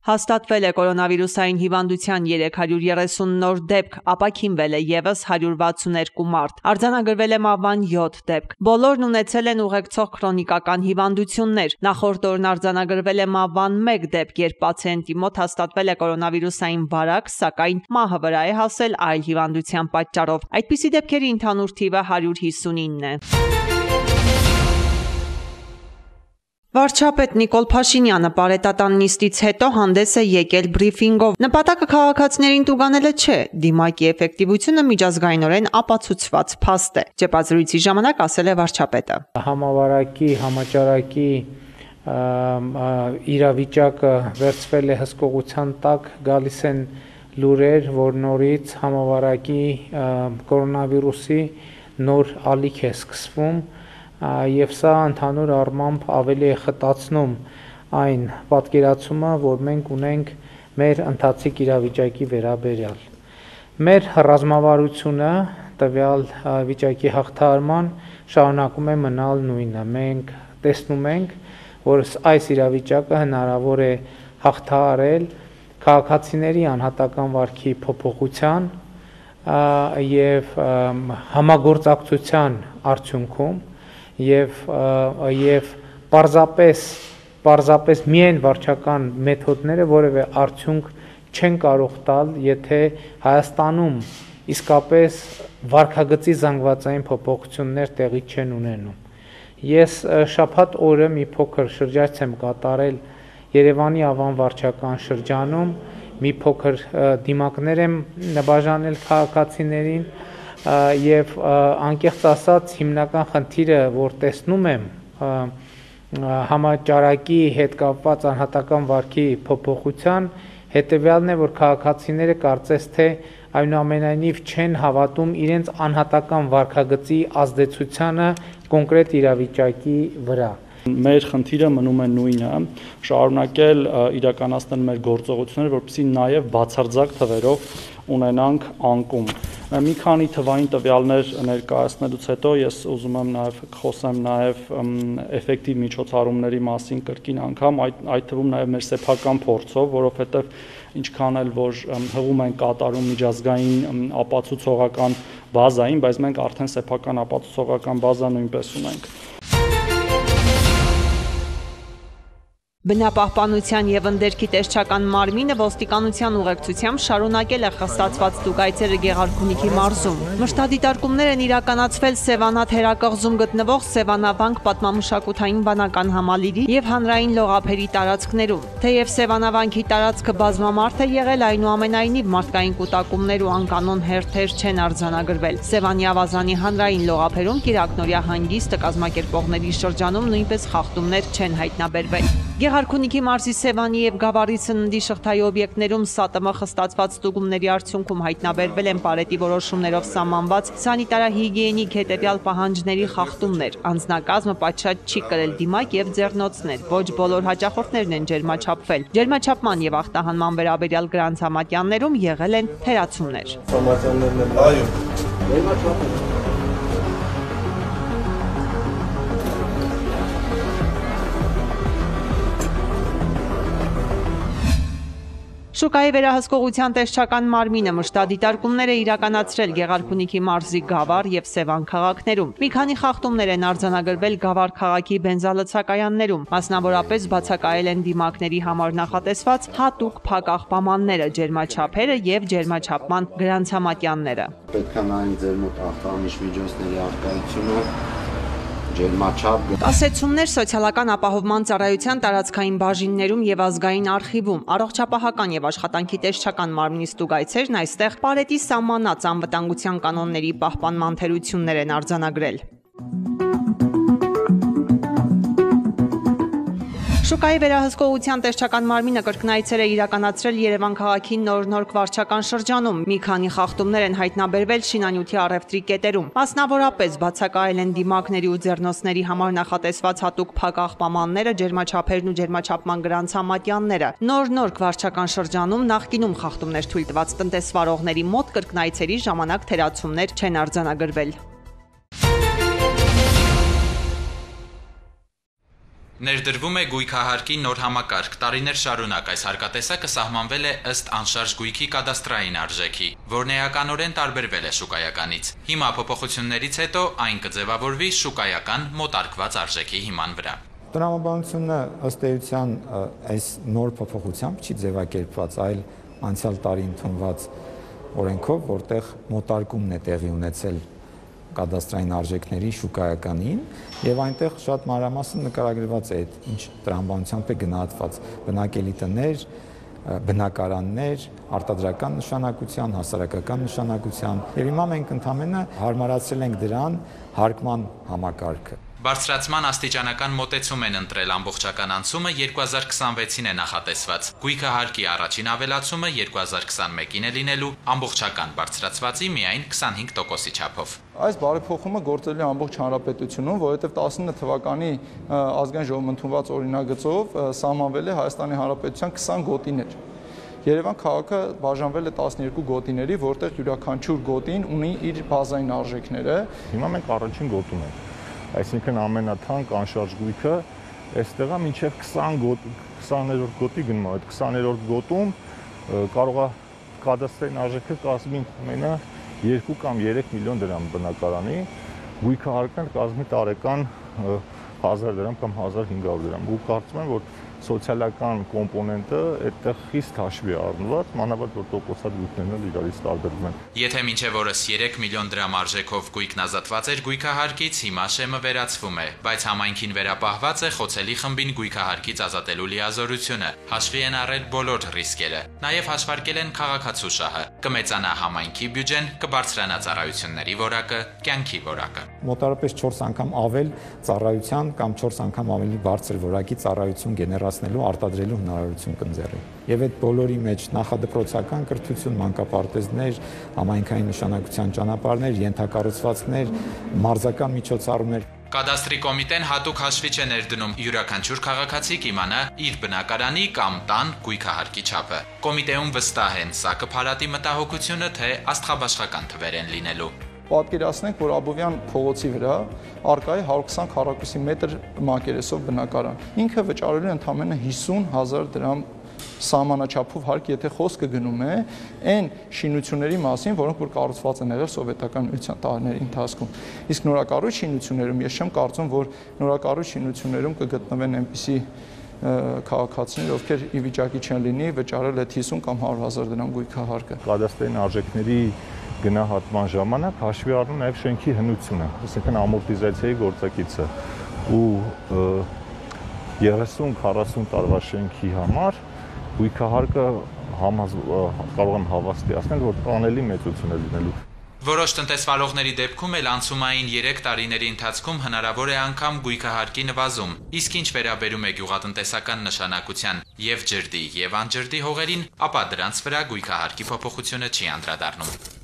Հաստատվել է կորոնավիրուսային հիվանդության 330 նոր դեպք, ապաքինվել է ևս 162 մարդ, արձանագրվել է մահվան 7 դեպք։ Բոլորն ունեցել են ուղեկցող քրոնիկական հիվանդություններ։ Նախորդ օրն արձանագրվել է մահվան 1 դեպք, երբ պացիենտի մոտ հաստատվել է կորոնավիրուսային վարակ, սակայն մահը վրա է հասել այլ հիվանդության պատճառով։ Այդպիսի դեպքերի ընդհանուր թիվը 159 է։ Վարչապետ Նիկոլ Փաշինյանը պարետատան նիստից հետո հանդես է եկել բրիֆինգով։ Նպատակը քաղաքացիներին տուգանելը չէ, դիմակի էֆեկտիվությունը միջազգայինորեն ապացուցված փաստ է, ճեպազրույցի ժամանակ ասել է վարչապետը։ Համավարակի, համաճարակի իրավիճակը վերցվել է հսկողության տակ, գալիս են լուրեր, որ նորից համավարակի կորոնավիրուսի նոր ալիք է սկսվում, եւ սա ընդհանուր առմամբ ավելի է խտացնում այն պատկերացումը, որ մենք ունենք մեր ընթացիկ իրավիճակի վերաբերյալ։ Մեր ռազմավարությունը տվյալ վիճակի հաղթահարման շարունակում է մնալ նույնը։ Մենք տեսնում ենք, որ այս իրավիճակը հնարավոր է հաղթահարել քաղաքացիների անհատական վարքի փոփոխության եւ համագործակցության արդյունքում եւ պարզապես միայն վարչական մեթոդները որևէ արդյունք չեն կարող տալ, եթե Հայաստանում իսկապես վարքագծի զանգվածային փոփոխություններ տեղի չեն ունենում։ Ես շաբաթ օրը մի փոքր շրջայց եմ կատարել Երևանի Ավան վարչական շրջանում, մի փոքր դիմակներ եմ նվաճանել քաղաքացիներին եւ անկեղծ ասած հիմնական խնդիրը, որ տեսնում եմ համաճարակի հետ կապված անհատական վարքի փոփոխության հետեւյալն է, որ քաղաքացիները կարծես թե այնուամենայնիվ չեն հավատում իրենց անհատական վարքագծի ազդեցությանը կոնկրետ իրավիճակի վրա։ Մեր խնդիրը մնում է նույնը, շարունակել իրականացնել մեր գործողությունները, որպեսզի նաև բացարձակ թվերով ունենանք անկում։ Մի քանի թվային տվյալներ ներկայացնելուց հետո ես ուզում եմ նաև խոսեմ նաև էֆեկտիվ միջոցառումների մասին կրկին անգամ, այդ թվում նաև մեր սեփական փորձով, որովհետև ինչքան էլ որ հղում են կատարում միջազգային ապացուցողական բազային, բայց մենք արդեն սեփական ապացուցողական բազա նույնպես ունենք։ Բնապահպանության եւ ընդերքի տեսչական մարմինը ոստիկանության ուղեկցությամբ շարունակել է խստացված ստուգայցերը Գեղարքունիքի մարզում։ Մշտադիտարկումներ են իրականացվել Սևանա թերակղզում գտնվող Սևանավանք պատմամշակութային վանական համալիրի եւ հանրային լողափերի տարածքներում։ Թեև Սևանավանքի տարածքը բազմամարդ է եղել, այնուամենայնիվ մարդկային կուտակումներ ու անկանոն հերթեր չեն արձանագրվել։ Սևանի ավազանի հանրային լողափերում Կիրակնորյա հանգիստը կազմակերպողների շրջանում նույնպես խախտումներ չեն հայտնաբերվել։ Գեղարքունիքի մարզի Սևանի եւ Գավառի սննդի շղթայի օբյեկտներում ՍԱՏՄ խստացված ստուգումների արդյունքում հայտնաբերվել են պարետի որոշումներով սահմանված սանիտարահիգիենիկ հետեւյալ պահանջների խախտումներ։ Անձնակազմը պատշաճ չի կրել դիմակ եւ ձեռնոցներ, ոչ բոլոր հաճախորդներն են ջերմաչափվել։ Ջերմաչափման եւ ախտահանման վերաբերյալ գրանցհամատյաններում եղել են թերացումներ։ Շուկայի վերահսկողության տեսչական մարմինը մշտադիտարկումներ է իրականացրել Գեղարքունիքի մարզի Գավառ եւ Սևան քաղաքներում։ Մի քանի խախտումներ են արձանագրվել Գավառ քաղաքի բենզալցակայաններում, մասնավորապես բացակայել են դիմակների համար նախատեսված հատուկ փակ աղբամանները, ջերմաչափերը եւ ջերմաչափման գրանցհամատյանները։ Պետք է նայենք ձեր մոտ ախտահանիչ միջոցների արկայությունը, ջերմաչափ։ Ասեցումներ սոցիալական ապահովման ծառայության տարածքային բաժիններում եւ ազգային արխիվում, առողջապահական եւ աշխատանքի տեսչական մարմնի ստուգայցերն այստեղ պարետի սահմանած անվտանգության կանոնների պահպանման թերություններ են արձանագրել։ Շուկայի վերահսկողության տեսչական մարմինը կրկնայցեր է իրականացրել Երևան քաղաքի Նոր վարչական շրջանում։ Մի քանի խախտումներ են հայտնաբերվել շինանյութի առևտրի կետերում։ Մասնավորապես բացակայել են դիմակների ու ձեռնոցների համար նախատեսված հատուկ փակ աղբամանները, ջերմաչափերն ու ջերմաչափման գրանցհամատյանները։ Նոր վարչական շրջանում նախկինում խախտումներ թույլ տված տնտեսվարողների մոտ կրկնայցերի ժամանակ թերացումներ չեն արձանագրվել։ Ներդրվում է գույքահարկի նոր համակարգ։ Տարիներ շարունակ այս հարկատեսակը սահմանվել է ըստ անշարժ գույքի կադաստրային արժեքի, որն էականորեն տարբերվել է շուկայականից։ Հիմա փոփոխություններից հետո այն կձևավորվի շուկայական մոտարկված արժեքի հիման վրա։ Տրամաբանությունը ըստ էության այս նոր փոփոխությամբ չի ձևակերպված, այլ անցյալ տարի ընդունված օրենքով, որտեղ մոտարկումն է տեղի ունեցել կադաստրային արժեքների շուկայականին, եւ այնտեղ շատ մանրամասն նկարագրված է այդ ինչ տրամաբանությամբ է գնահատված բնակելի տներ, բնակարաններ, արտադրական նշանակության, հասարակական նշանակության, եւ հիմա մենք ընդհանրապես հարմարացրել ենք դրան հարկման համակարգը։ Բարձրացման աստիճանական մոտեցում են ընտրել ամբողջական անցումը 2026-ին է նախատեսված։ Գույքահարկի առաջին ավելացումը 2021-ին է լինելու, ամբողջական բարձրացվածի միայն 25%-ի չափով։ Այս բարեփոխումը գործել է ամբողջ հանրապետությունում, որովհետև 19 թվականի ազգային ժողովում ընդունված օրինագծով սահմանվել է Հայաստանի Հանրապետության 20 գոտիներ։ Երևան քաղաքը բաժանվել է 12 գոտիների, որտեղ յուրաքանչյուր գոտին ունի իր բազային արժեքները։ Հիմա մենք առաջին գոտում ենք, այսինքն ամենաթանկ անշարժ գույքը այստեղ է մինչև 20-րդ գոտի գնում է, այդ 20-րդ գոտում կարող է կադաստրային արժեքը կազմի մենա 2 կամ 3 միլիոն դրամ բնակարանի, գույքահարկը կազմի տարեկան 1000 դրամ կամ 1500 դրամ։ Ու կարծում եմ, որ սոցիալական կոմպոնենտը այդտեղ խիստ հաշվի է առնված, մանավանդ որ տոկոսատ գույքներն իրարից տարբերվում են։ Եթե մինչև օրս 3 միլիոն դրամ արժեքով գույքն ազատված էր գույքահարկից, հիմա շեմը վերացվում է, բայց համայնքին վերապահված է խոցելի խմբին գույքահարկից ազատելու լիազորությունը։ Հաշվի են առել բոլոր ռիսկերը, նաև հաշվարկել են քաղաքացու շահը։ Կմեծանա համայնքի բյուջեն, կբարձրանա ծառայությունների որակը, կյանքի որակը։ Մոտարապես 4 անգամ ավել ծառայության կամ 4 անգամ ավելի բարձր որակի ծառայություն գեներացնելու, արտադրելու հնարավորություն կընձեռի։ Եվ այդ բոլորի մեջ նախադպրոցական կրթություն, մանկապարտեզներ, համայնքային նշանակության ճանապարհներ, ենթակառուցվածքներ, մարզական միջոցառումներ։ Կադաստրի կոմիտեն հատուկ հաշվի չէ ներդնում յուրաքանչյուր քաղաքացի կիմանա իր բնակարանի կամ տան գույքահարկի չափը։ Կոմիտեում վստահ են, սա կփարատի մտահոգությունը, թե աստղաբաշխական թվեր են լինելու։ Պատկերացնենք, որ Աբովյան փողոցի վրա առկա է 120 քառակուսի մետր մակերեսով բնակարան։ Ինքը վճարելու է ընդամենը 50,000 դրամ սահմանաչափով հարկ, եթե խոսքը գնում է այն շինությունների մասին, որոնք որ կառուցված են եղել սովետական միության տարիների ընթացքում։ Իսկ նորակառույց շինություններում ես չեմ կարծում, որ նորակառույց շինություններում կգտնվեն այնպիսի քաղաքացիներ, ովքեր ի վիճակի չեն լինի վճարել այդ 50 կամ 100,000 դրամ գույքահարկը։ Կադաստրային արժեքների գնահատման ժամանակ հաշվի առնում նաև շենքի հնությունը, այսինքն ամորտիզացիայի գործակիցը ու 30-40 տարվա շենքի համար գույքահարկը կարող եմ հավաստիացնել, որ տանելի մեծություն է լինելու։ Որոշ տնտեսվարողների դեպքում էլ անցումային 3 տարիների ընթացքում հնարավոր է անգամ գույքահարկի նվազում, իսկ ինչ վերաբերում է գյուղատնտեսական նշանակության եւ ջրդի եւ անջրդի հողերին, ապա դրանց վրա գույքահարկի փոփոխությունը չի անդրադառնում։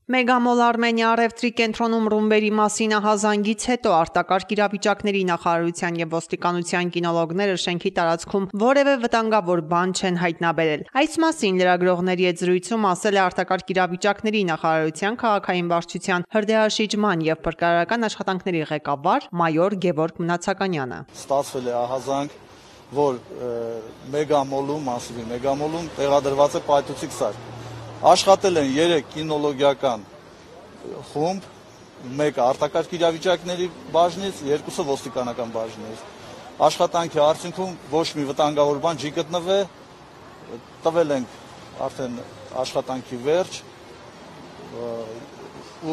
Մեգամոլ Արմենիա առևտրի կենտրոնում ռումբերի մասինահազանգից հետո արտակարգ իրավիճակների նախարարության եւ ոստիկանության կինոլոգները շենքի տարածքում որևէ վտանգավոր բան չեն հայտնաբերել։ Այս մասին լրագրողների հետ զրույցում ասել է արտակարգ իրավիճակների նախարարության քաղաքային վարչության հրդեհաշիջման եւ փրկարարական աշխատանքների ղեկավար մայոր Գևորգ Մնացականյանը։ Ստացվել է ահազանգ, որ մեգամոլում, մասիվի մեգամոլում տեղադրված է պայթուցիկ սարք։ Աշխատել են 3 կինոլոգիական խումբ, մեկը արտակարգ իրավիճակների բաժնից, 2-ը ոստիկանական բաժնից։ Աշխատանքի արդյունքում ոչ մի վտանգավոր բան չի գտնվել, տվել ենք արդեն աշխատանքի վերջ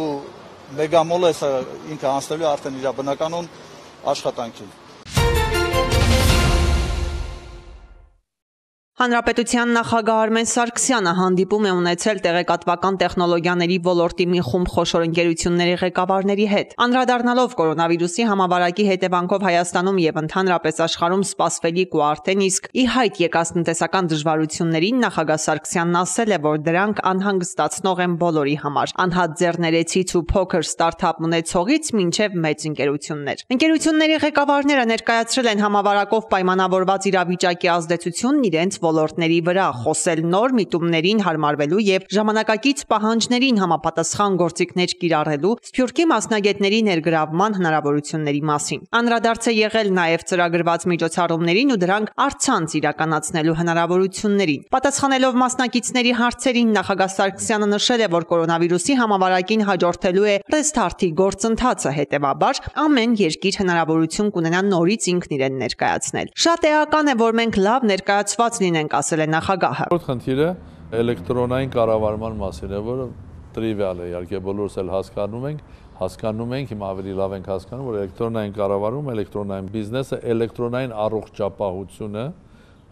ու մեգամոլը ինքը անցնելու արդեն իր բնականon աշխատանքին։ Հանրապետության նախագահ Արմեն Սարգսյանը հանդիպում է ունեցել տեղեկատվական տեխնոլոգիաների ոլորտի մի խումբ խոշոր ընկերությունների ղեկավարների հետ։ Անդրադառնալով կորոնավիրուսի համավարակի հետևանքով Հայաստանում եւ ընդհանրապես աշխարհում սպասվելիք ու արդեն իսկ ի հայտ եկած տնտեսական դժվարություններին նախագահ Սարգսյանն ասել է, որ դրանք անհանգստացնող են բոլորի համար, անհատ ձեռներեցից ու փոքր ստարտափ ունեցողից մինչև մեծ ընկերություններ։ Ընկերությունների ղեկավարները ներկայացրել են համավարակով պայմանավորված իրավիճակի ազդեցությունն իրենց ոլորտների վրա, խոսել նոր միտումներին հարմարվելու եւ ժամանակակից պահանջներին համապատասխան գործիքներ կիրառելու Սփյուռքի մասնագետների ներգրավման հնարավորությունների մասին։ Անդրադարձ է եղել նաեւ ծրագրված միջոցառումներին ու դրանք առցանց իրականացնելու հնարավորություններին։ Պատասխանելով մասնակիցների հարցերին նախագահ Սարգսյանը նշել է, որ կորոնավիրուսի համավարակին հաջորդելու է ռեստարտի գործընթացը, հետևաբար ամեն երկիր հնարավորություն կունենա նորից ինքն իրեն ներկայացնել։ Շատ էական է, որ մենք լավ ներկայացված լինենք, ասել է նախագահը։ Πρώτ խնդիրը էլեկտրոնային կառավարման մասին է, որը տրիվիալ է, իհարկե բոլորս էլ հասկանում ենք, հիմա ավելի լավ ենք հասկանում, որ էլեկտրոնային կառավարում, էլեկտրոնային բիզնեսը, էլեկտրոնային առողջապահությունը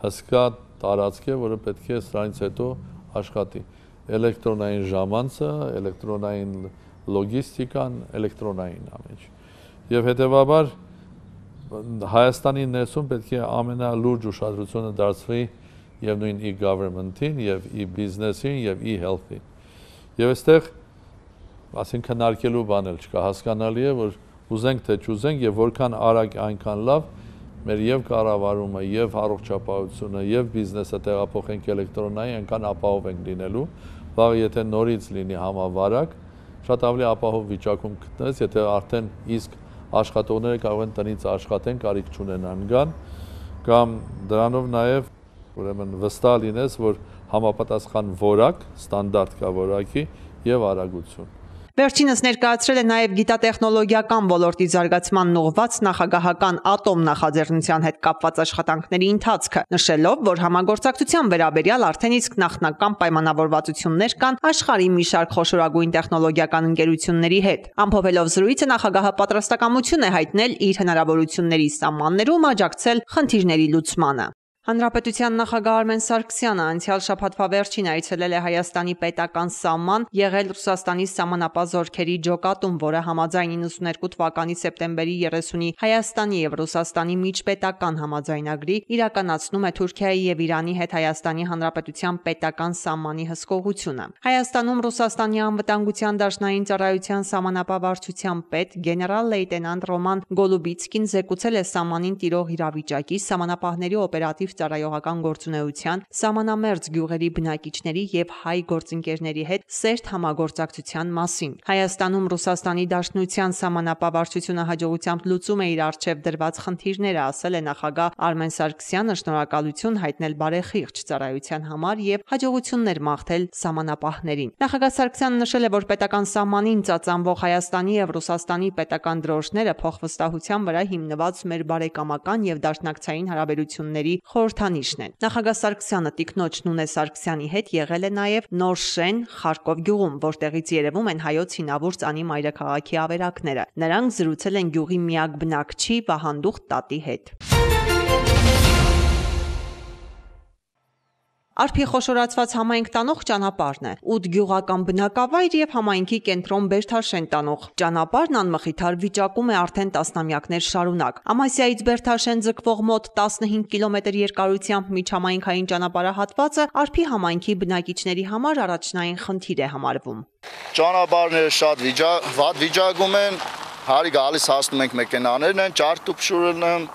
հսկա տարածք է, որը պետք է սրանից հետո աշխատի։ Էլեկտրոնային ժամանցը, էլեկտրոնային լոգիստիկան, էլեկտրոնային ամեն ինչ։ Եվ հետևաբար Հայաստանի ներսում պետք է ամենալուրջ ուշադրությունը դարձվի եւ նույն e-government-ին, եւ e-business-ին, եւ e-health-ին։ Եվ այստեղ ասին քննարկելու բան էլ չկա, հասկանալի է, որ ուզենք թե չուզենք եւ որքան արագ այնքան լավ մեր եւ կառավարումը, եւ առողջապահությունը, եւ բիզնեսը տեղափոխենք էլեկտրոնային, այնքան ապահով ենք լինելու։ Վաղ եթե նորից լինի համավարակ, շատ ավելի ապահով վիճակում գտնես, եթե արդեն իսկ աշխատողները կարող են տնից աշխատեն, կարիք չունենան գան, կամ դրանով նաև ուրեմն վստահ լինես, որ համապատասխան որակ, ստանդարտ կա որակի եւ արագություն։ Վերջինս ներկայացրել է նաև գիտատեխնոլոգիական ոլորտի զարգացման ուղղված նախագահական ատոմ նախաձեռնության հետ կապված աշխատանքների ընթացքը, նշելով, որ համագործակցության վերաբերյալ արդեն իսկ նախնական պայմանավորվածություններ կան աշխարհի մի շարք խոշորագույն տեխնոլոգիական ընկերությունների հետ։ Ամփոփելով զրույցը նախագահը պատրաստակամություն է հայտնել իր հնարավորությունների սահմաններում աջակցել խնդիրների լուծմանը։ Հանրապետության նախագահ Արմեն Սարգսյանը անցյալ շաբաթվա վերջին այցելել է Հայաստանի պետական սահման, եղել Ռուսաստանի սահմանապահ զորքերի ջոկատում, որը համաձայն 92 թվականի սեպտեմբերի 30-ի Հայաստանի եւ Ռուսաստանի միջպետական համաձայնագրի իրականացնում է Թուրքիայի եւ Իրանի հետ Հայաստանի Հանրապետության պետական սահմանի հսկողությունը։ Հայաստանում Ռուսաստանի անվտանգության դաշնային ծառայության սահմանապահ վարչության պետ գեներալ լեյտենանտ Ռոման Գոլուբիցկին զեկուցել է սահմանին տիրող իրավիճակի, սահմանապահների օպերատիվ ծառայողական գործունեության, սահմանամերձ գյուղերի բնակիչների եւ հայ գործընկերների հետ սերտ համագործակցության մասին։ Հայաստանում Ռուսաստանի Դաշնության սահմանապահ վարչությունը հաջողությամբ լուծում է իր առջև դրված խնդիրները, ասել է նախագահ Արմեն Սարգսյանը, շնորհակալություն հայտնել բարեխիղճ ծառայության համար եւ հաջողություններ մաղթել սահմանապահներին։ Նախագահ Սարգսյանը նշել է, որ պետական սահմանին ծածանվող Հայաստանի եւ Ռուսաստանի պետական դրոշները փոխվստահության վրա հիմնված մեր բարեկամական եւ դաշնակցային հարաբերությունների խորհրդանիշն են։ Նախագահ Սարգսյանը տիկնոջ Նունե Սարգսյանի հետ եղել է նաև Նոր Շեն Խարկով գյուղում, որտեղից երևում են հայոց հինավուրց անի մայրաքաղաքի ավերակները։ Նրանք զրուցել են գյուղի միակ բնակչի Վահանդուխ տատի հետ։ Արփի խոշորացված համայնք տանող ճանապարհն է, 8 գյուղական բնակավայր եւ համայնքի կենտրոն Բերթաշեն տանող ճանապարհն անմխիթար վիճակում է արդեն տասնամյակներ շարունակ։ Ամասիայից Բերթաշեն ձգվող մոտ 15 կիլոմետր երկարությամբ միջհամայնքային ճանապարհահատվածը Արփի համայնքի բնակիչների համար առաջնային խնդիր է համարվում։ Ճանապարհները շատ վատ վիճակում են, հարի գալիս հասնում ենք մեքենաներն են, ճարտուփշուրն են,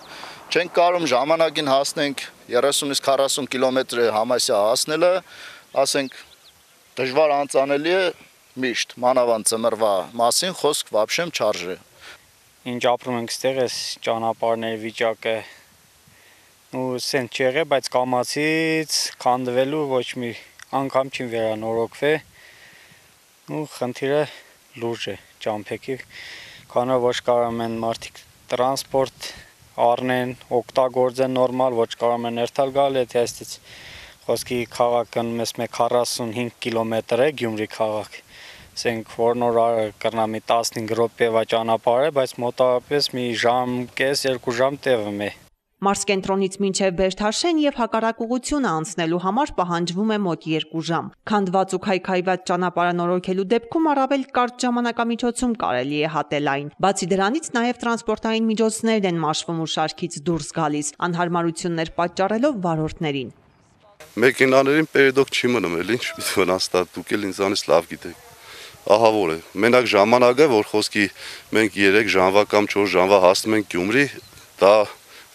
չենք կարող ժամանակին հասնենք 30-ից 40 կիլոմետր Համասիա հասնելը, ասենք դժվար անցանելի է միշտ, մանավանդ ծմրվա մասին խոսք վաբշեմ չարժե։ Ինչ ապրում ենք ստեղ էս ճանապարհների վիճակը ու սենց չեղե, բայց կամացից քանդվելու ոչ մի անգամ չի վերանորոգվե ու խնդիրը լուրջ է ճամփեքի, քանի ոչ կարող են մարդիկ տրանսպորտ առնեն, օգտագործեն նորմալ, ոչ կարող են ներթալ գալ, եթե այստից խոսքի քաղաքը մեզ 45 կիլոմետր է Գյումրի քաղաք, ասենք որ նոր կրնա մի 15 րոպեվա ճանապարհ է, բայց մոտավորապես մի ժամ կես, 2 ժամ տևում է։ Մարզկենտրոնից մինչև Բերթաշեն եւ հակառակ ուղղությունը անցնելու համար պահանջվում է մոտ 2 ժամ։ Քանդված ու քայքայված ճանապարհը նորոգելու դեպքում առավել կարճ ժամանակամիջոցում կարելի է հատել այն։ Բացի դրանից նաև տրանսպորտային միջոցներն են մաշվում ու շարքից դուրս գալիս, անհարմարություններ պատճառելով վարորդներին։ Մեքենաներին պերեդոք չի մնում, էլ ինչ վնասતા, դուք էլ ինձանից լավ գիտեք։ Ահավոր է։ Մենակ ժամանակը, որ խոսքի մենք 3 ժամվա կամ 4 ժամվա հասնում ենք Գյումրի, դա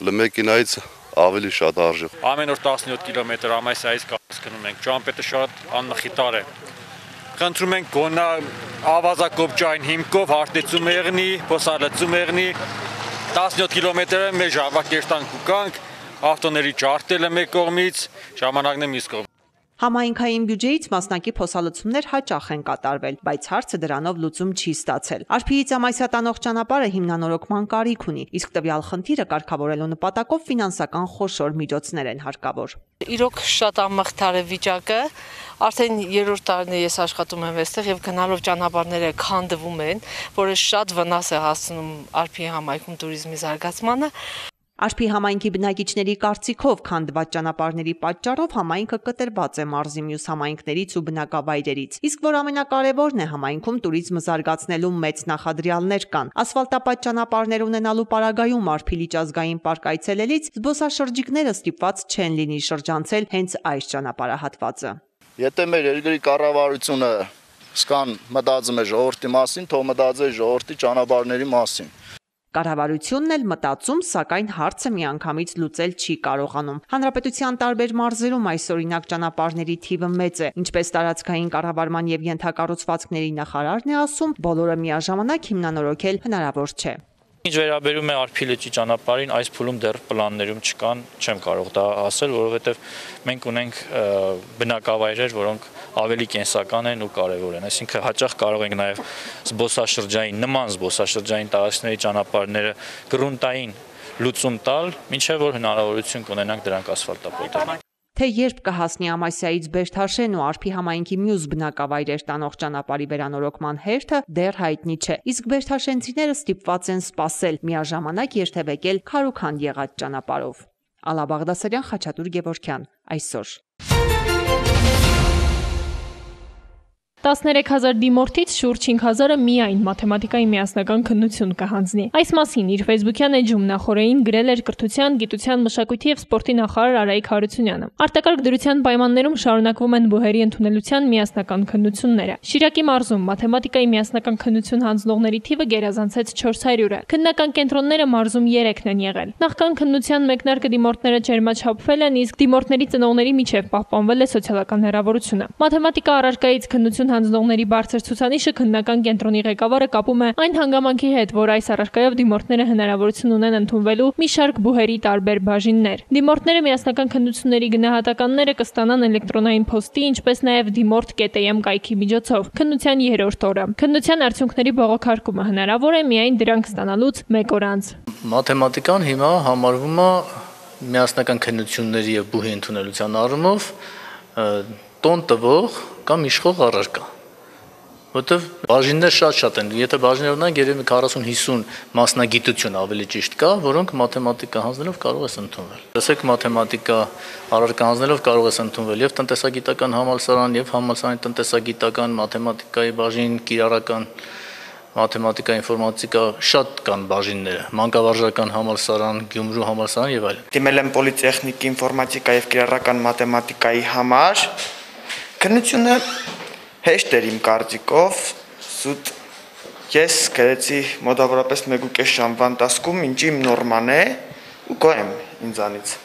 մեքենայից ավելի շատ արժեք։ Ամեն օր 17 կիլոմետր ամասայից կասկնում ենք, ճամպետը շատ անմխիտար է։ Խնդրում ենք գոնա ավազակոպճային հիմքով հարտեցում եղնի, փոսալցում եղնի 17 կիլոմետրը մեր ժավակերտանք ու կանք, ավտոների ջարդելը մեկ կողմից, ժամանակն է մյուս կողմից։ Համայնքային բյուջեից մասնակի փոսալցումներ հաճախ են կատարվել, բայց հարցը դրանով լուծում չի ստացել։ Արփիից Ամասիա տանող ճանապարհը հիմնանորոգման կարիք ունի, իսկ տվյալ խնդիրը կարգավորելու նպատակով ֆինանսական խոշոր միջոցներ են հարկավոր։ Իրոք շատ անմխիթար է վիճակը, արդեն 3-րդ տարին է ես աշխատում եմ այստեղ եւ գնալով ճանապարհները քանդվում են, որը շատ վնաս է հասցնում Արփիի համայնքում туриզմի զարգացմանը։ Արփի համայնքի բնակիչների կարծիքով քանդված ճանապարհների պատճառով համայնքը կտրված է մարզի մյուս համայնքներից ու բնակավայրերից, իսկ որ ամենակարևորն է, համայնքում туриզմը զարգացնելու մեծ նախադրյալներ կան։ Ասֆալտապատ ճանապարհներ ունենալու պարագայում Արփի լիճազգային պարկ այցելելից զբոսաշրջիկները ստիպված չեն լինի շրջանցել հենց այս ճանապարհահատվածը։ Եթե մեր երկրի կառավարությունը սկան մտածում է ժողովրդի մասին, թող մտածի ժողովրդի ճանապարհների մասին։ Կառավարությունն էլ մտածում, սակայն հարցը միանգամից լուծել չի կարողանում։ Հանրապետության տարբեր մարզերում այսօրինակ ճանապարհների թիվը մեծ է, ինչպես տարածքային կառավարման եւ ենթակառուցվածքների նախարարն է ասում, բոլորը միաժամանակ հիմնանորոգել հնարավոր չէ։ Ինչ վերաբերում է Արփի լճի ճանապարհին, այս փուլում դեռ պլաններում չկան, չեմ կարող դա ասել, որովհետև մենք ունենք բնակավայրեր, որոնք ավելի կենսական են ու կարևոր են։ Այսինքն հաճախ կարող ենք նաև նման զբոսաշրջային տարածքների ճանապարհները գրունտային լուծում տալ, մինչև որ հնարավորություն կունենանք դրանք ասֆալտապատել։ Թե երբ կհասնի Ամասիայից Բերդաշեն ու Արփի համայնքի մյուս բնակավայրեր տանող ճանապարհի վերանորոգման հերթը դեռ հայտնի չէ, իսկ բերդաշենցիները ստիպված են սպասել, միաժամանակ երթևեկել քարուքանդ եղած ճանապարհով։ Ալա Բաղդասարյան, Խաչատուր Գևորգյան, այսօր։ 13,000 դիմորդից շուրջ 5,000-ը միայն մաթեմատիկայի միասնական քննություն կհանձնի։ Այս մասին իր Facebook-յան էջում նախորդին գրել էր կրթության, գիտության, մշակույթի եւ սպորտի նախարար Արայիկ Հարությունյանը։ Արտակարգ դրության պայմաններում շարունակվում են բուհերի ընդունելության միասնական քննությունները։ Շիրակի մարզում մաթեմատիկայի միասնական քննություն հանձնողների թիվը գերազանցեց 400-ը։ Քննական կենտրոնները մարզում 3-ն են եղել։ Նախքան քննության մեկնարկը դիմորդները ջերմաչափվել են, իսկ դիմորդների ծնողների միջև պահպանվել է սոցիալական հեռավորությունը։ Մաթեմատիկա առարկայից քննություն հանձնողների բարձր ցուցանիշը քննական կենտրոնի ղեկավարը կապում է այն հանգամանքի հետ, որ այս առարկայով դիմորդները հնարավորություն ունեն ընդունվելու մի շարք բուհերի տարբեր բաժիններ։ Դիմորդները միասնական քննությունների գնահատականները կստանան էլեկտրոնային փոստի, ինչպես նաև dimort.am կայքի միջոցով։ Քննության 3-րդ օրը։ Քննության արդյունքների բողոքարկումը հնարավոր է միայն դրանք ստանալուց 1 օր անց։ Մաթեմատիկան հիմա համարվում է միասնական քննությունների եւ բուհի ընդունելության առումով տոն տվող կամ իշխող առարկա, որտեվ բաժիններ շատ են, եթե բաժիններ ունենք, երևի 40-50 մասնագիտություն ավելի ճիշտ կա, որոնք մաթեմատիկա հանձնելով կարող ես ընդունվել։ Տեսեք, մաթեմատիկա առարկա հանձնելով կարող ես ընդունվել եւ տնտեսագիտական համալսարան, եւ համալսարանի տնտեսագիտական, մաթեմատիկայի բաժին, կիրառական մաթեմատիկա, ինֆորմատիկա, շատ կան բաժինները, մանկավարժական համալսարան, Գյումրու համալսարան եւ այլն։ Դիմել եմ պոլիտեխնիկ ինֆորմատիկա եւ կիրառական մաթեմատիկայի համար։ Քննությունը հեշտ էր իմ կարծիքով, սուտ ես գրեցի մոտավորապես 1.5 ժամվա ընթացքում, ինչ իմ նորման է ու գոհ եմ ինձանից։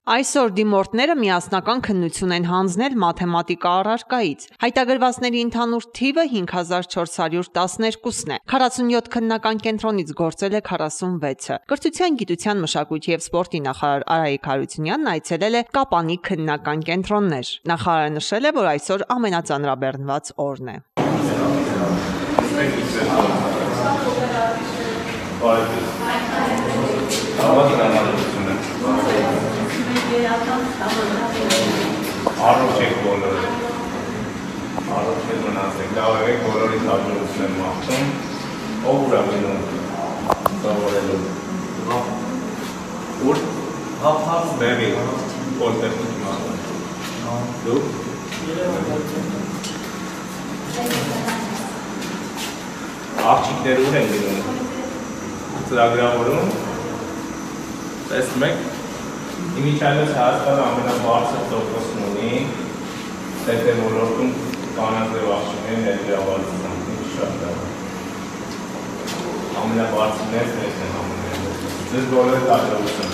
Այսօր դիմորդները միասնական քննություն են հանձնել մաթեմատիկա առարկայից։ Հայտագրվածների ընդհանուր թիվը 5412-ն է։ 47 քննական կենտրոնից գործել է 46-ը։ Կրթության, գիտության, մշակույթի եւ սպորտի նախարար Արայիկ Հարությունյանն այցելել է Կապանի քննական կենտրոններ։ Նախարարը նշել է, որ այսօր ամենածանրաբեռնված օրն է։ Առողջ եք բոլորը, առողջ եք մնացեք, լավ եք բոլորի հաջողություն եմ մաղթում, ով ուր ամենում սովորելու, ուր բևի, պոլտեխնիկ մաղթում, դու, աղջիկներ ուր են գնում, ծրագրավորում, տեսնում եք, Իմիջայլոց Հայաստանը ամենաբարձր տոկոսն ունի ՏՏ ոլորտում կանանձև աղջիկների ներգրավվածության, ինչ շատ լավ։ Ամենաբարձրներից մեկն են համարվում։ Ձեզ բոլորիդ հաջողություն։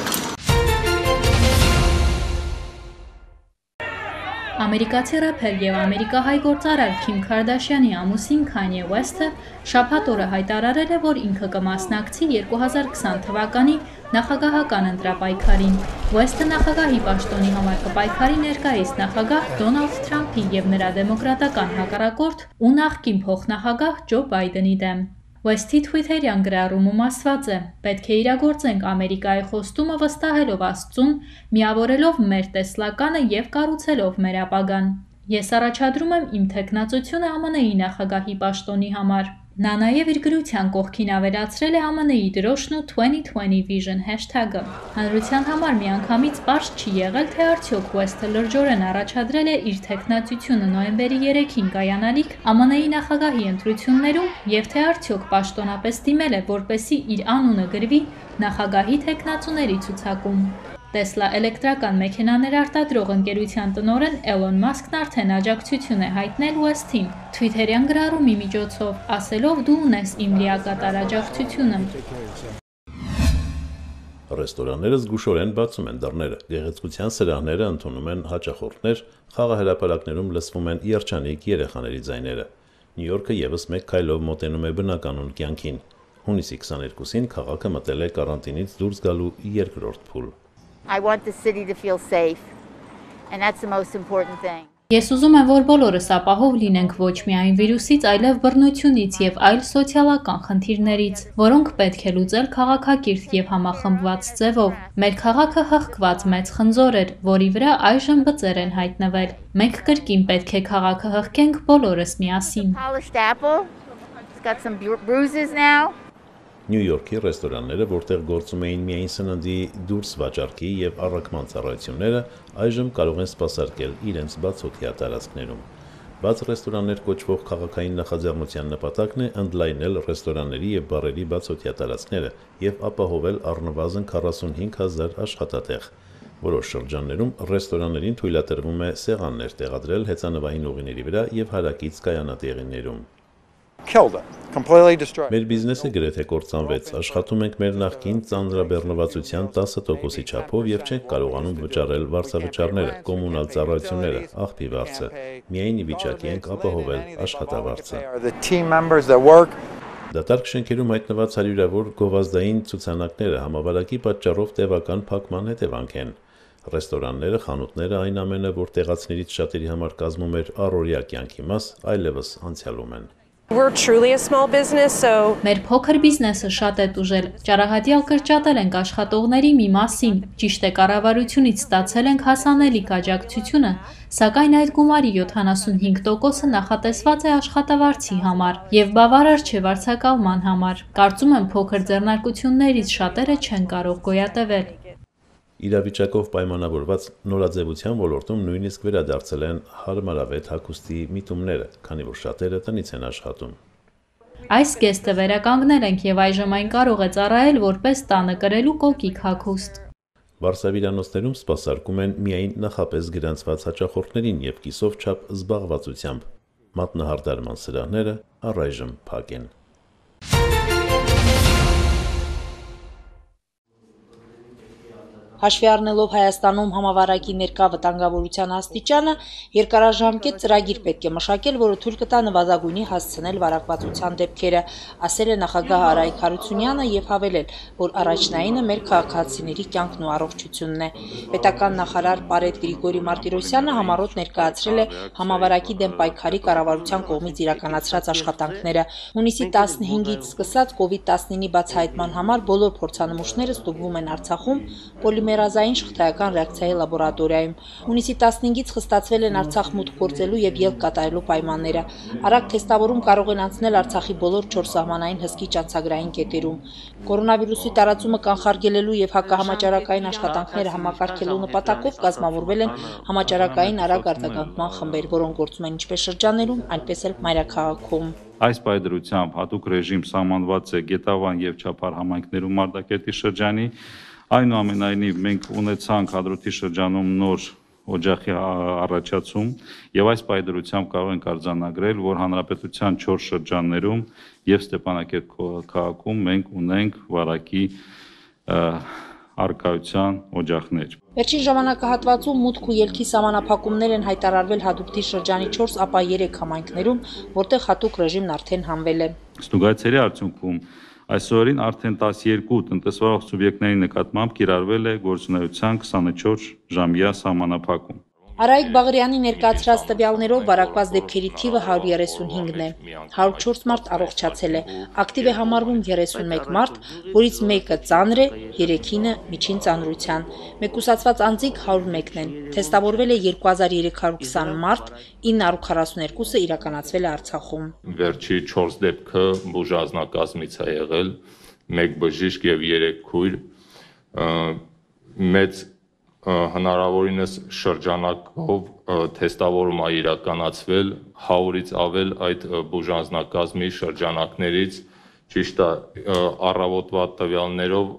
Ամերիկացի рэփեր եւ ամերիկահայ գործարար Քիմ Քարդաշյանի ամուսին Քանյե Ուեսթը շաբաթ օրը հայտարարել է, որ ինքը կմասնակցի 2020 թվականի նախագահական ընտրապայքարին։ Ուեսթը նախագահի պաշտոնի համար կպայքարի ներկայիս նախագահ Դոնալդ Թրամփի եւ նրա դեմոկրատական հակառակորդ ու նախկին փոխնախագահ Ջո Բայդենի դեմ։ Ուեսթի թվիթերյան գրառումում ասված է. «Պետք է իրագործենք Ամերիկայի խոստումը վստահելով Աստծուն, միավորելով մեր տեսլականը եւ կառուցելով մեր ապագան։ Ես առաջադրում եմ իմ թեկնածությունը ԱՄՆ-ի նախագահի պաշտոնի համար»։ Նա նաև իր գրության կողքին ավելացրել է ԱՄՆ-ի դրոշն ու 2020 Vision hashtag-ը։ Հանրության համար միանգամից պարզ չի եղել, թե արդյոք Ուեսթը լրջորեն առաջադրել է իր թեկնածությունը նոյեմբերի 3-ին կայանալիք ԱՄՆ-ի նախագահի ընտրություններում եւ թե արդյոք պաշտոնապես դիմել է, որպեսզի իր անունը գրվի նախագահի թեկնածուների ցուցակում։ Տեսլա էլեկտրական մեքենաներ արտադրող ընկերության տնօրեն Էլոն Մասկն արդեն աջակցություն է հայտնել Ուեսթին Թվիթերյան գրառումի միջոցով, ասելով՝ «Դու ունես իմ լիակատար աջակցությունը»։ Ռեստորանները զգուշորեն բացում են դռները, գեղեցկության սրահները ընդունում են հաճախորդներ, խաղահրապարակներում լսվում են երջանիկ երեխաների ձայները։ Նյու Յորքը եւս մեկ քայլով մոտենում է բնականոն կյանքին։ Հունիսի 22-ին քաղաքը մտել է կարանտինից դուրս գալու երկրորդ փուլ։ I want the city to feel safe, and that's the most important thing. Ես ուզում եմ, որ բոլորս ապահով լինենք ոչ միայն վիրուսից, այլև բռնությունից եւ այլ սոցիալական խնդիրներից, որոնք պետք է լուծել քաղաքակիրթ եւ համախմբված ձևով։ Մեր քաղաքը հղկված մեծ խնձոր էր, որի վրա այժմ բծեր են հայտնվել։ Մենք կրկին պետք է քաղաքը հղկենք բոլորս միասին։ Polished apple. It's got some bruises now. Նյու Յորքի ռեստորանները, որտեղ գործում էին միայն սննդի դուրս վաճառքի եւ առաքման ծառայությունները, այժմ կարող են սպասարկել իրենց բացօթյա տարածքներում։ Բաց ռեստորաններ կոչվող քաղաքային նախաձեռնության նպատակն է ընդլայնել ռեստորանների եւ բարերի բացօթյա տարածքները եւ ապահովել առնվազն 45,000 աշխատատեղ։ Որոշ շրջաններում ռեստորաններին թույլատրվում է սեղաններ տեղադրել հեծանվային ուղիների վրա եւ հարակից կայանատեղիներում։ Մեր բիզնեսը գրեթե կործանվեց, աշխատում ենք մեր նախկին ծանրաբեռնվածության 10%-ի չափով եւ չենք կարողանում վճարել վարձավճարները, կոմունալ ծառայությունները, աղբի վարձը։ Միայն ի վիճակի ենք ապահովել աշխատավարձը։ Դատարկ շենքերում հայտնված հարյուրավոր գովազդային ցուցանակները համավարակի պատճառով տևական փակման հետևանք են։ Ռեստորանները, խանութները, այն ամենը, որ տեղացիներից շատերի համար կազմում էր առօրյա կյանքի մաս, այլևս անցյալում են։ Մեր փոքր բիզնեսը շատ է տուժել։ Ճարահատյալ կրճատել ենք աշխատողների մի մասին։ Ճիշտ է, կառավարությունից ստացել ենք հասանելիք աջակցությունը, սակայն այդ գումարի 75%-ը նախատեսված է աշխատավարձի համար եւ բավարար չէ վարձակալման համար։ Կարծում եմ, փոքր ձեռնարկություններից շատերը չեն կարող գոյատևել։ Իրավիճակով պայմանավորված նորաձևության ոլորտում նույնիսկ վերադարձել են հարմարավետ հագուստի միտումները, քանի որ շատերը տնից են աշխատում։ Այս գեստը վերականգնել ենք եւ այժմ այն կարող է ծառայել որպես տանը կրելու կոկիկ հագուստ։ Վարսավիրանոցներում սպասարկում են միայն նախապես գրանցված հաճախորդներին եւ կիսով չափ զբաղվածությամբ։ Մատնահարդարման սրահները առայժմ փակ են։ Հաշվի առնելով Հայաստանում համավարակի ներկա վտանգավորության աստիճանը, երկարաժամկետ ծրագիր պետք է մշակել, որը թույլ կտա նվազագույնի հասցնել վարակվածության դեպքերը, ասել է նախագահ Արայք Հարությունյանը եւ հավելել, որ առաջնայինը մեր քաղաքացիների կյանքն ու առողջությունն է։ Պետական նախարար Պարետ Գրիգորի Մարտիրոսյանը համառոտ ներկայացրել է համավարակի դեմ պայքարի կառավարության կողմից իրականացրած աշխատանքները։ Հունիսի 15-ից սկսած COVID-19-ի բացահայտման համար բոլոր փորձանմուշները ստուգվում են Արցախում պոլիմերազային շղթայական ռեակցիայի լաբորատորիայում։ Հունիսի 15-ից խստացվել են Արցախ մուտք գործելու եւ ելք կատարելու պայմանները։ Արագ թեստավորում կարող են անցնել Արցախի բոլոր 4 սահմանային հսկիչ անցագրային կետերում։ Կորոնավիրուսի տարածումը կանխարգելելու եւ հակահամաճարակային աշխատանքները համակարգելու նպատակով կազմավորվել են համաճարակային արագ արձագանքման խմբեր, որոնք գործում են ինչպես շրջաններում, այնպես էլ մայրաքաղաքում։ Այս պայդրությամբ հատուկ ռեժիմ սահմանված է Գետավան եւ Չափար համայնքներում Մարտակերտի շրջանի։ Այնուամենայնիվ մենք ունեցանք Հադրութի շրջանում նոր օջախի առաջացում եւ այս պայդրությամբ կարող ենք արձանագրել, որ հանրապետության 4 շրջաններում եւ Ստեփանակերտ քաղաքում մենք ունենք վարակի արկայության օջախներ։ Վերջին ժամանակահատվածում մուտք ու ելքի սահմանափակումներ են հայտարարվել Հադրութի շրջանի 4, ապա 3 համայնքներում, որտեղ հատուկ ռեժիմն արդեն հանվել է։ Ստուգայցերի արդյունքում այսօրին արդեն 12 տնտեսվարող սուբյեկտների նկատմամբ կիրառվել է գործունեության 24 ժամյա սահմանափակում։ Արայիկ Բաղարյանի ներկայացրած տվյալներով վարակված դեպքերի թիվը 135-ն է։ 104 մարդ առողջացել է։ Ակտիվ է համարվում 31 մարդ, որից մեկը ծանր է, 3-ինը միջին ծանրության։ Մեկուսացված անձիկ 101-ն են։ Թեստավորվել է 2320 մարդ, 942-ը իրականացվել է Արցախում։ Վերջի 4 դեպքը բուժազնակազմից է եղել, 1 բժիշկ եւ 3 քույր, մեծ հնարավորինս շրջանակով թեստավորում է իրականացվել 100-ից ավել այդ բուժանձնակազմի շրջանակներից, ճիշտ է, առավոտվա տվյալներով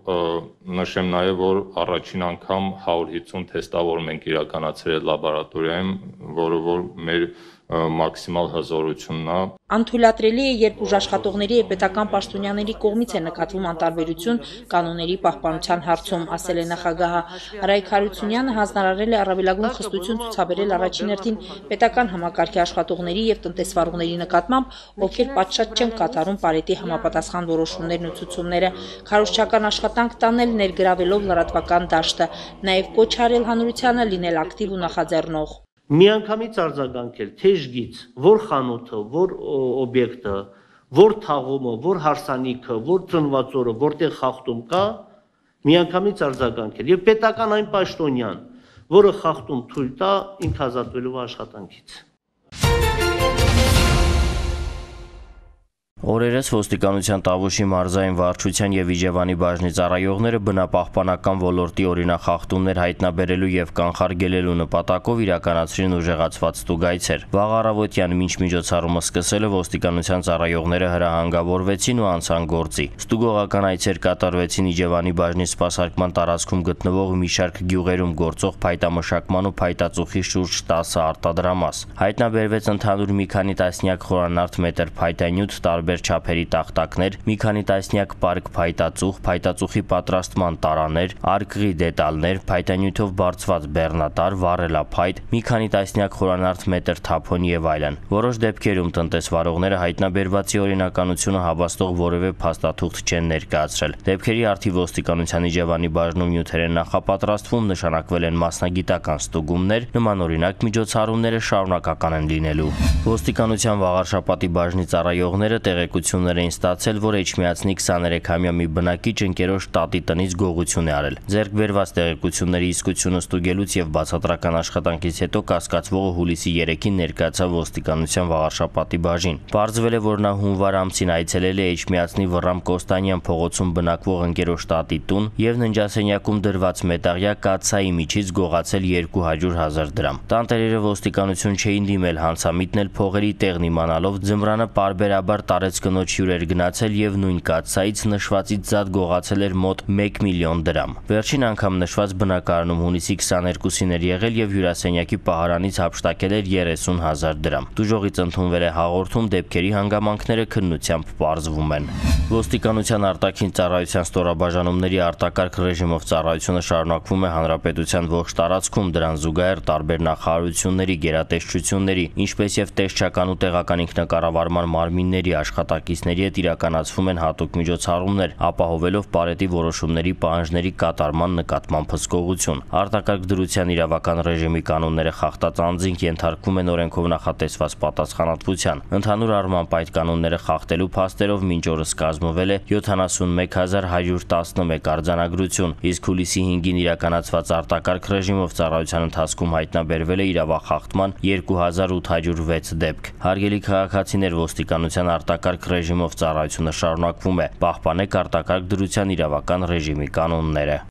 նշեմ նաև, որ առաջին անգամ 150 թեստավորում ենք իրականացրել լաբորատորիայում, որը որ մեր մաքսիմալ հզորությունն է։ Անթույլատրելի է, երբ ուժաշխատողների եւ պետական պաշտոնյաների կողմից է նկատվում անտարբերություն կանոնների պահպանության հարցում, ասել է նախագահը։ Արայիկ Հարությունյանը հանձնարարել է առավելագույն խստություն ցուցաբերել առաջին հերթին պետական համակարգի աշխատողների եւ տնտեսվարողների նկատմամբ, ովքեր պատշաճ չեն կատարում Պարետի համապատասխան որոշումներն ու ցուցումները, քարոզչական աշխատանք տանել ներգրավելով լրատվական դաշտը, նաեւ կոչ արել հանրությանը լինել ակտիվ ու նախաձեռնող։ Միանգամից արձագանքել թեժգից, որ խանութը, որ օբյեկտը, որ թաղումը, որ հարսանիքը, որ ծնված օրը, որտեղ խախտում կա, միանգամից արձագանքել եւ պետական այն պաշտոնյան, որը խախտում թույլ տա, ինքը ազատվելու աշխատանքից։ Օրերս ոստիկանության Տավուշի մարզային վարչության եւ Իջևանի բաժնի ծառայողները բնապահպանական ոլորտի օրինախախտումներ հայտնաբերելու եւ կանխարգելելու նպատակով իրականացրին ուժեղացված ստուգայցեր։ Վաղ առավոտյան մինչ միջոցառումը սկսելը ոստիկանության ծառայողները հրահանգավորվեցին ու անցան գործի։ Ստուգողական այցեր կատարվեցին Իջևանի բաժնի սպասարկման տարածքում գտնվող մի շարք գյուղերում գործող փայտամշակման ու փայտածուխի շուրջ 10 արտադրամաս։ Հայտնաբերվեց ընդհանուր մի քանի տասնյակ խորանարդ մետր փայտանյութ, տարբեր չափերի տախտակներ, մի քանի տասնյակ պարկ փայտածուխ, փայտածուխի պատրաստման տարաներ, արկղի դետալներ, փայտանյութով բարձված բեռնատար, վառելափայտ, մի քանի տասնյակ խորանարդ մետր թափոն եւ այլն։ Որոշ դեպքերում տնտեսվարողները հայտնաբերվածի օրինականությունը հավաստող որևէ փաստաթուղթ չեն ներկայացրել։ Դեպքերի արդիվ ոստիկանության Իջևանի բաժնում նյութեր են նախապատրաստվում, նշանակվել են մասնագիտական ստուգումներ, նմանօրինակ միջոցառումները շարունակական են լինելու։ Ոստիկանության Վաղարշապատի բաժնի ծառայողները տեղեկություններ էին ստացել, որ Էջմիածնի 23-ամյա մի բնակիչ ընկերոջ տատի տնից գողություն է արել։ Ձեռք բերված տեղեկությունների իսկությունը ստուգելուց եւ բացատրական աշխատանքից հետո կասկածվողը հուլիսի 3-ին ներկայացավ ոստիկանության Վաղարշապատի բաժին։ Պարզվել է, որ նա հունվար ամսին այցելել է Էջմիածնի Վռամ Կոստանյան փողոցում բնակվող ընկերոջ տատի տուն եւ ննջասենյակում դրված մետաղյա կաթսայի միջից գողացել 200,000 դրամ։ Տանտերերը ոստիկանություն չէին դիմել, հանցամիտն էլ փողերի տեղն իմանալով ձմռանը պարբերաբար տարեց կնոջ հյուր էր գնացել եւ նույն կաթսայից նշվածից զատ գողացել էր մոտ 1 միլիոն դրամ։ Վերջին անգամ նշված բնակարանում հունիսի 22-ին էր եղել եւ հյուրասենյակի պահարանից հափշտակել էր 30,000 դրամ։ Դուժողից ընդունվել է հաղորդում, դեպքերի հանգամանքները քննությամբ պարզվում են։ Ոստիկանության արտաքին ծառայության ստորաբաժանումների արտակարգ ռեժիմով ծառայությունը շարունակվում է հանրապետության ողջ տարածքում, դրան զուգահեռ տարբեր նախարարությունների, գերատեսչությունների, ինչպես եւ տեսչական ու տեղական ինքնակառավարման մարմինների աշխատակիցների հետ իրականացվում են հատուկ միջոցառումներ, ապահովելով Պարետի որոշումների պահանջների կատարման նկատմամբ հսկողություն։ Արտակարգ դրության իրավական ռեժիմի կանոնները խախտած անձինք ենթարկվում են օրենքով նախատեսված պատասխանատվության։ Ընդհանուր առմամբ այդ կանոնները խախտելու փաստերով մինչ օրս կազմվել է 71111 արձանագրություն, իսկ հուլիսի 5-ին իրականացված արտակարգ ռեժիմով ծառայության ընթացքում հայտնաբերվել է իրավախախտման 2806 դեպք։ Հարգելի քաղաքացիներ, ոստիկանության արտակարգ ռեժիմով ծառայությունը շարունակվում է, պահպանեք արտակարգ դրության իրավական ռեժիմի կանոնները։